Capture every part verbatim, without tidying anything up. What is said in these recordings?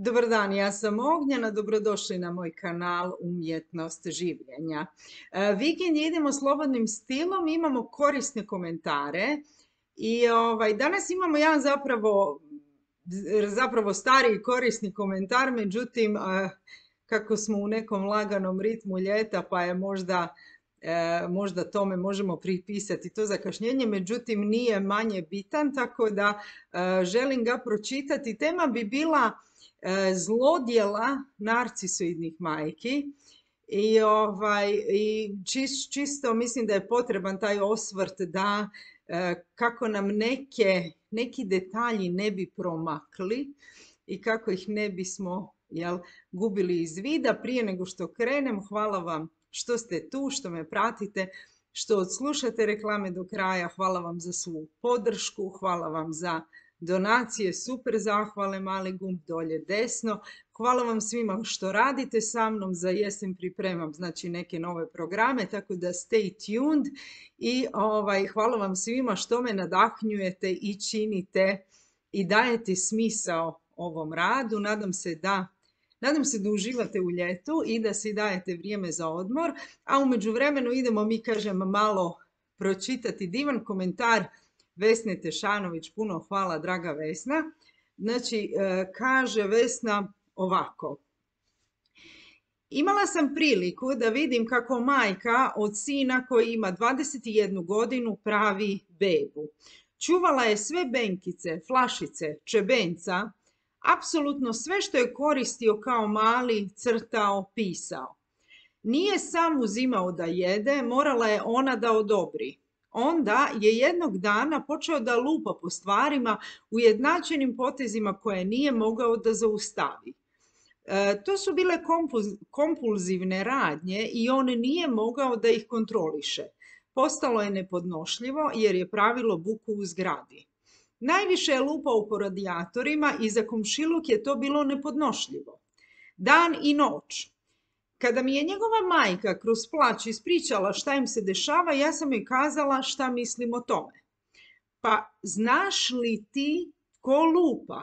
Dobar dan, ja sam Ognjena, dobrodošli na moj kanal Umjetnost življenja. E, Vikend idemo slobodnim stilom, imamo korisne komentare i ovaj, danas imamo jedan zapravo, zapravo stari korisni komentar, međutim, e, kako smo u nekom laganom ritmu ljeta pa je možda, e, možda tome možemo pripisati to zakašnjenje, međutim nije manje bitan, tako da e, želim ga pročitati. Tema bi bila zlodjela narcisoidnih majki i, ovaj, i čist, čisto mislim da je potreban taj osvrt da kako nam neke, neki detalji ne bi promakli i kako ih ne bismo jel, gubili iz vida. Prije nego što krenem, hvala vam što ste tu, što me pratite, što odslušate reklame do kraja. Hvala vam za svu podršku, hvala vam za donacije, super zahvale, mali gumb dolje desno. Hvala vam svima što radite sa mnom, za jesen pripremam znači neke nove programe, tako da stay tuned i ovaj, hvala vam svima što me nadahnjujete i činite i dajete smisao ovom radu. Nadam se da Nadam se da uživate u ljetu i da si dajete vrijeme za odmor, a u međuvremenu idemo mi, kažem, malo pročitati divan komentar Vesne Tešanović. Puno hvala, draga Vesna. Znači, kaže Vesna ovako. Imala sam priliku da vidim kako majka od sina koji ima dvadeset jednu godinu pravi bebu. Čuvala je sve benkice, flašice, čebenca, apsolutno sve što je koristio kao mali, crtao, pisao. Nije sam uzimao da jede, morala je ona da odobri. Onda je jednog dana počeo da lupa po stvarima ujednačenim potezima koje nije mogao da zaustavi. E, to su bile kompulzivne radnje i on nije mogao da ih kontroliše. Postalo je nepodnošljivo jer je pravilo buku u zgradi. Najviše je lupao po radijatorima i za komšiluk je to bilo nepodnošljivo. Dan i noć. Kada mi je njegova majka kroz plać ispričala šta im se dešava, ja sam joj kazala šta mislim o tome. Pa znaš li ti ko lupa?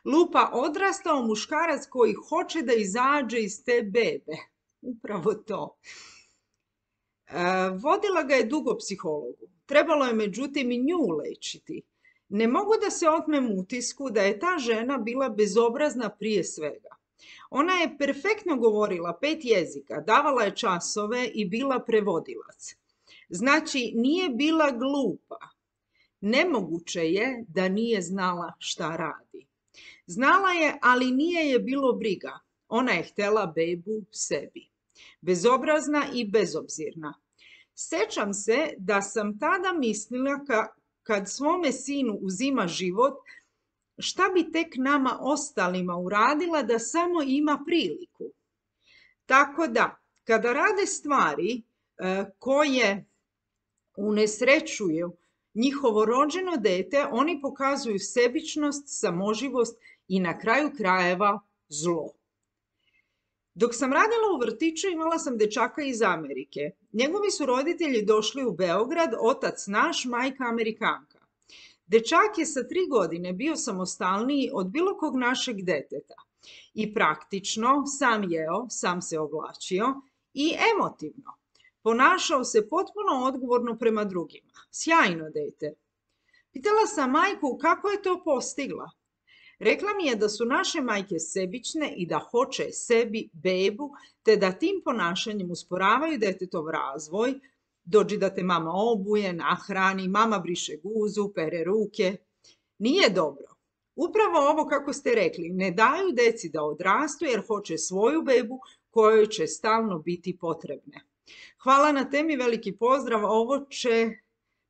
Lupa odrastao muškarac koji hoće da izađe iz te bebe. Upravo to. E, vodila ga je dugo psihologu. Trebalo je međutim i nju lečiti. Ne mogu da se otmem utisku da je ta žena bila bezobrazna prije svega. Ona je perfektno govorila pet jezika, davala je časove i bila prevodilac. Znači, nije bila glupa. Nemoguće je da nije znala šta radi. Znala je, ali nije je bilo briga. Ona je htjela bebu sebi. Bezobrazna i bezobzirna. Sećam se da sam tada mislila ka, kad svome sinu uzima život, šta bi tek nama ostalima uradila da samo ima priliku. Tako da, kada rade stvari e, koje unesrećuju njihovo rođeno dete, oni pokazuju sebičnost, samoživost i na kraju krajeva zlo. Dok sam radila u vrtiću, imala sam dečaka iz Amerike. Njegovi su roditelji došli u Beograd, otac naš, majka Amerikanka. Dečak je sa tri godine bio samostalniji od bilo kog našeg deteta i praktično sam jeo, sam se oblačio i emotivno. Ponašao se potpuno odgovorno prema drugima. Sjajno dete. Pitala sam majku kako je to postigla. Rekla mi je da su naše majke sebične i da hoće sebi bebu, te da tim ponašanjem usporavaju detetov razvoj. Dođi da te mama obuje, nahrani, mama briše guzu, pere ruke. Nije dobro. Upravo ovo kako ste rekli, ne daju deci da odrastu jer hoće svoju bebu kojoj će stalno biti potrebne. Hvala na temi, veliki pozdrav. Ovo će,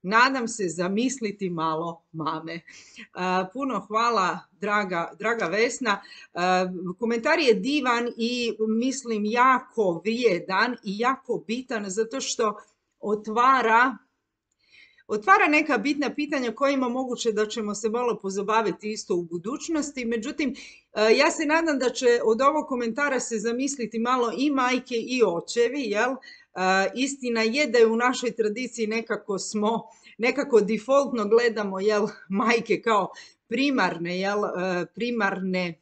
nadam se, zamisliti malo mame. Uh, puno hvala, draga, draga Vesna. Uh, komentar je divan i mislim jako vrijedan i jako bitan zato što otvara, otvara neka bitna pitanja kojima moguće da ćemo se malo pozabaviti isto u budućnosti. Međutim, ja se nadam da će od ovog komentara se zamisliti malo i majke i očevi, jel? Istina je da je u našoj tradiciji nekako smo, nekako defaultno gledamo, jel, majke kao primarne, jel, primarne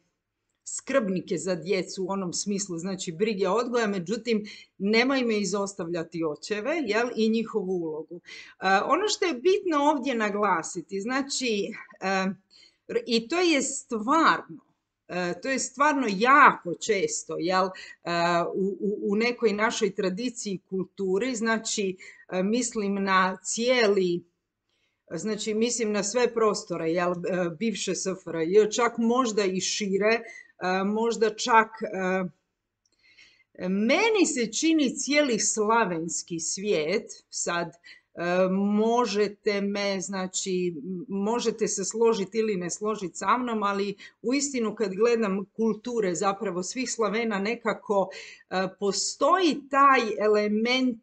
skrbnike za djecu u onom smislu, znači brige odgoja, međutim nemojmo izostavljati očeve, jel, i njihovu ulogu. Ono što je bitno ovdje naglasiti, znači, i to je stvarno, to je stvarno jako često, jel, u, u nekoj našoj tradiciji i kulturi, znači mislim na cijeli, znači mislim na sve prostore, jel, bivše S F R J, čak možda i šire, možda čak, meni se čini cijeli slavenski svijet, sad možete me, znači, možete se složiti ili ne složiti sa mnom, ali uistinu kad gledam kulture zapravo svih Slavena nekako postoji taj element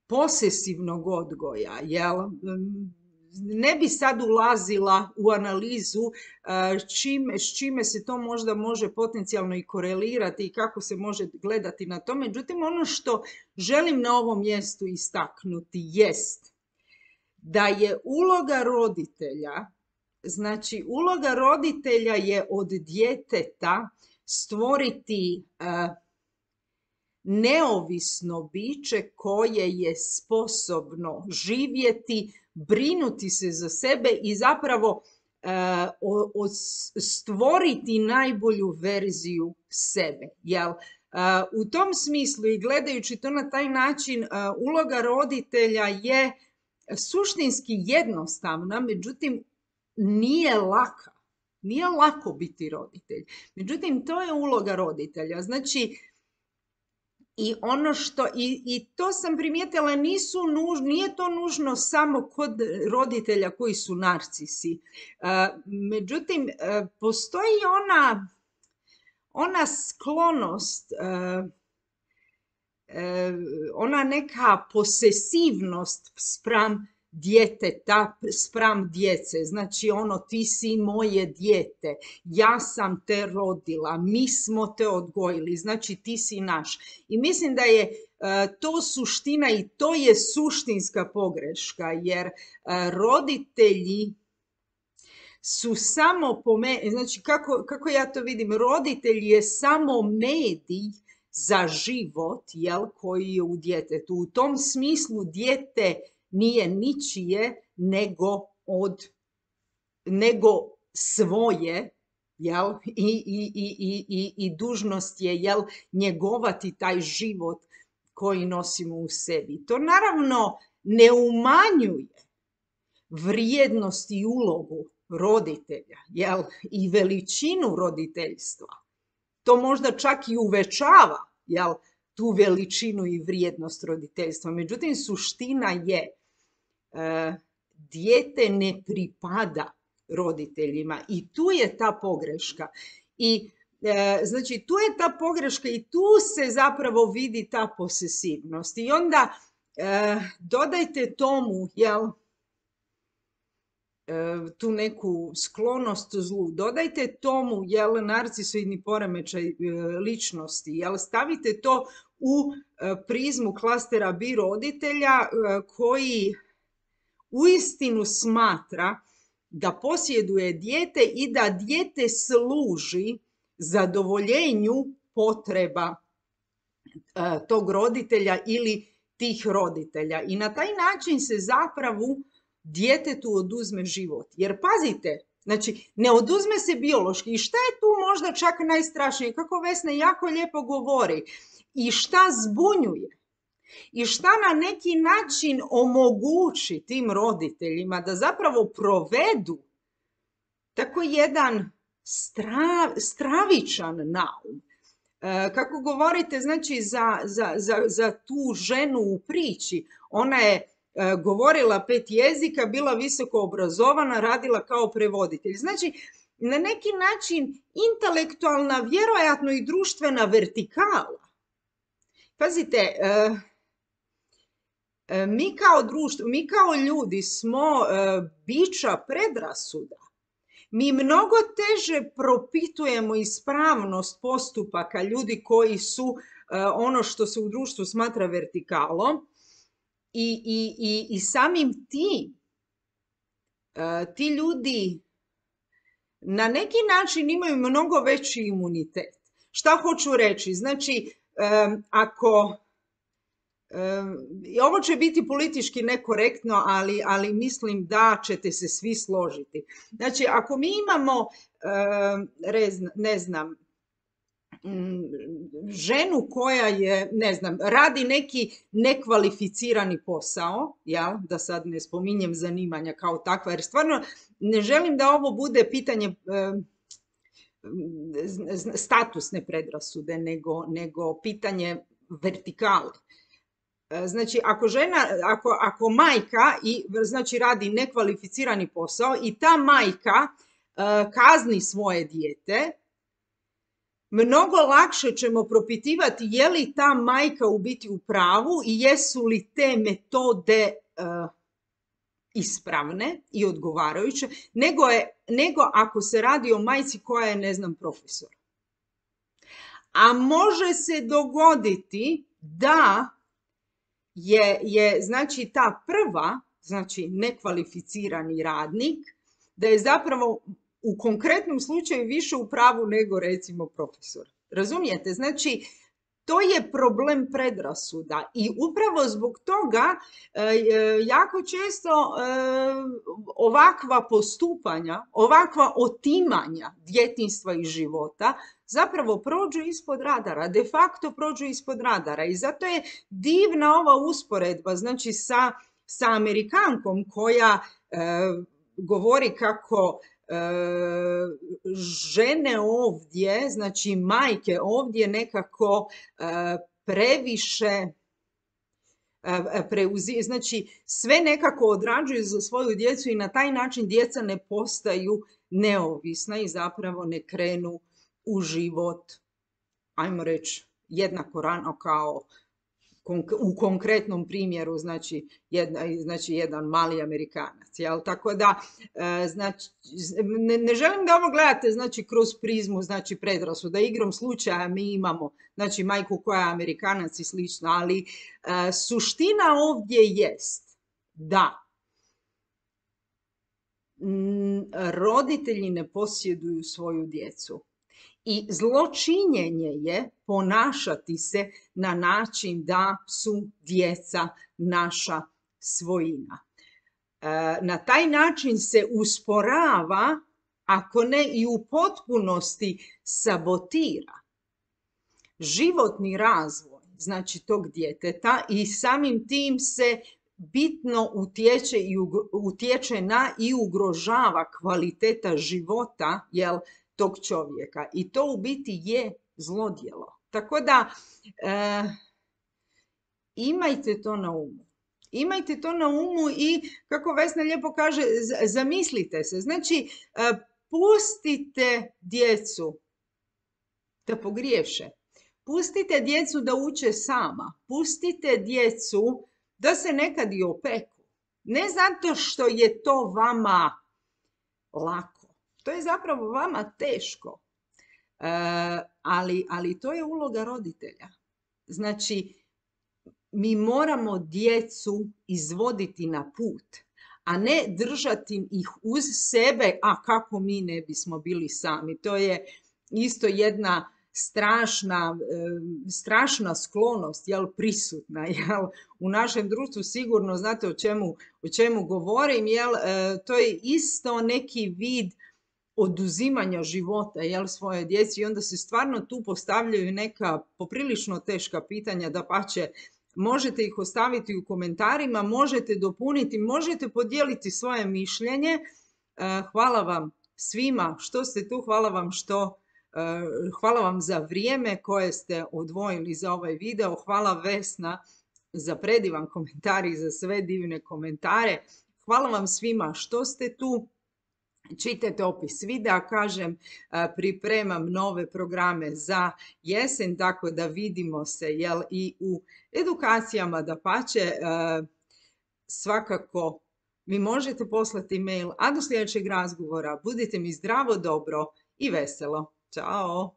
posesivnog odgoja, jel? Ne bi sad ulazila u analizu čime, s čime se to možda može potencijalno i korelirati i kako se može gledati na to. Međutim, ono što želim na ovom mjestu istaknuti jest da je uloga roditelja, znači uloga roditelja je od djeteta stvoriti neovisno biće koje je sposobno živjeti, brinuti se za sebe i zapravo e, o, o, stvoriti najbolju verziju sebe. Jel? E, u tom smislu i gledajući to na taj način, e, uloga roditelja je suštinski jednostavna, međutim nije laka. Nije lako biti roditelj. Međutim, to je uloga roditelja. Znači, I ono što, i, i to sam primijetila, nisu nuž, nije to nužno samo kod roditelja koji su narcisi. Uh, međutim, uh, postoji ona, ona sklonost, uh, uh, ona neka posesivnost spram djeteta, spram djece. Znači ono, ti si moje dijete, ja sam te rodila, mi smo te odgojili, znači ti si naš. I mislim da je uh, to suština i to je suštinska pogreška, jer uh, roditelji su samo po meni, znači kako, kako ja to vidim, roditelj je samo medij za život, jel, koji je u djetetu. U tom smislu dijete nije ničije nego od, nego svoje, jel? I, i, i, i, i dužnost je, jel, njegovati taj život koji nosimo u sebi. To naravno ne umanjuje vrijednost i ulogu roditelja, jel, i veličinu roditeljstva. To možda čak i uvećava, jel, tu veličinu i vrijednost roditeljstva. Međutim, suština je, e, dijete ne pripada roditeljima i tu je ta pogreška. I e, znači tu je ta pogreška i tu se zapravo vidi ta posesivnost. I onda e, dodajte tomu, jel, tu neku sklonost zlu, dodajte tomu, jel, narcisoidni poremećaj ličnosti, jel, stavite to u prizmu klastera B roditelja koji uistinu smatra da posjeduje dijete i da dijete služi zadovoljenju potreba tog roditelja ili tih roditelja. I na taj način se zapravo djetetu oduzme život. Jer pazite, znači ne oduzme se biološki. I šta je tu možda čak najstrašnije? Kako Vesna jako lijepo govori. I šta zbunjuje? I šta na neki način omogući tim roditeljima da zapravo provedu tako jedan strav, stravičan naum. E, kako govorite, znači za, za, za, za tu ženu u priči, ona je govorila pet jezika, bila visoko obrazovana, radila kao prevoditelj. Znači, na neki način intelektualna, vjerojatno i društvena vertikala. Pazite, mi kao društvo, mi kao ljudi smo bića predrasuda. Mi mnogo teže propitujemo ispravnost postupaka ljudi koji su ono što se u društvu smatra vertikalom. I, i, i, i samim tim, ti ljudi na neki način imaju mnogo veći imunitet. Šta hoću reći? Znači, um, ako, um, ovo će biti politički nekorektno, ali, ali mislim da ćete se svi složiti. Znači, ako mi imamo, um, rez, ne znam, ženu koja je, ne znam, radi neki nekvalificirani posao, ja, da sad ne spominjem zanimanja kao takva, jer stvarno ne želim da ovo bude pitanje e, statusne predrasude, nego, nego pitanje vertikale. Znači, ako žena, ako, ako majka i, znači, radi nekvalificirani posao i ta majka e, kazni svoje dijete, mnogo lakše ćemo propitivati je li ta majka u biti u pravu i jesu li te metode uh, ispravne i odgovarajuće, nego, je, nego ako se radi o majci koja je, ne znam, profesor. A može se dogoditi da je, je znači, ta prva, znači nekvalificirani radnik, da je zapravo u konkretnom slučaju više u pravu nego, recimo, profesor. Razumijete? Znači, to je problem predrasuda i upravo zbog toga e, jako često e, ovakva postupanja, ovakva otimanja djetinjstva i života zapravo prođu ispod radara, de facto prođu ispod radara i zato je divna ova usporedba, znači, sa, sa Amerikankom koja e, govori kako žene ovdje, znači majke ovdje nekako previše preuzi, znači sve nekako odrađuju za svoju djecu i na taj način djeca ne postaju neovisna i zapravo ne krenu u život, ajmo reći, jednako rano kao u konkretnom primjeru, znači, jedna, znači jedan mali Amerikanac. Jel? Tako da, znači, ne, ne želim da ovo gledate, znači, kroz prizmu, znači, predrasuda. Igrom slučaja mi imamo, znači, majku koja je Amerikanac i slično, ali uh, suština ovdje jest da m, roditelji ne posjeduju svoju djecu. I zločinjenje je ponašati se na način da su djeca naša svojina. E, na taj način se usporava, ako ne i u potpunosti sabotira, životni razvoj, znači, tog djeteta i samim tim se bitno utječe, i utječe na i ugrožava kvaliteta života, jel, tog čovjeka i to u biti je zlodjelo. Tako da e, imajte to na umu. Imajte to na umu i, kako Vesna lijepo kaže, zamislite se. Znači, e, pustite djecu da pogriješe. Pustite djecu da uče sama. Pustite djecu da se nekad i opeku. Ne zato što je to vama lako. To je zapravo vama teško, e, ali, ali to je uloga roditelja. Znači, mi moramo djecu izvoditi na put, a ne držati ih uz sebe, a kako mi ne bismo bili sami. To je isto jedna strašna, e, strašna sklonost, jel, prisutna, jel, u našem društvu. Sigurno znate o čemu, o čemu govorim, jel, e, to je isto neki vid oduzimanja života, jel, svoje djeci i onda se stvarno tu postavljaju neka poprilično teška pitanja, dapače, možete ih ostaviti u komentarima, možete dopuniti, možete podijeliti svoje mišljenje. Hvala vam svima što ste tu, hvala vam što, hvala vam za vrijeme koje ste odvojili za ovaj video, hvala Vesna za predivan komentar i za sve divne komentare, hvala vam svima što ste tu. Čitajte opis videa, kažem, pripremam nove programe za jesen, tako da vidimo se, jel, i u edukacijama, dapače, svakako mi možete poslati mail, a do sljedećeg razgovora budite mi zdravo, dobro i veselo. Ćao!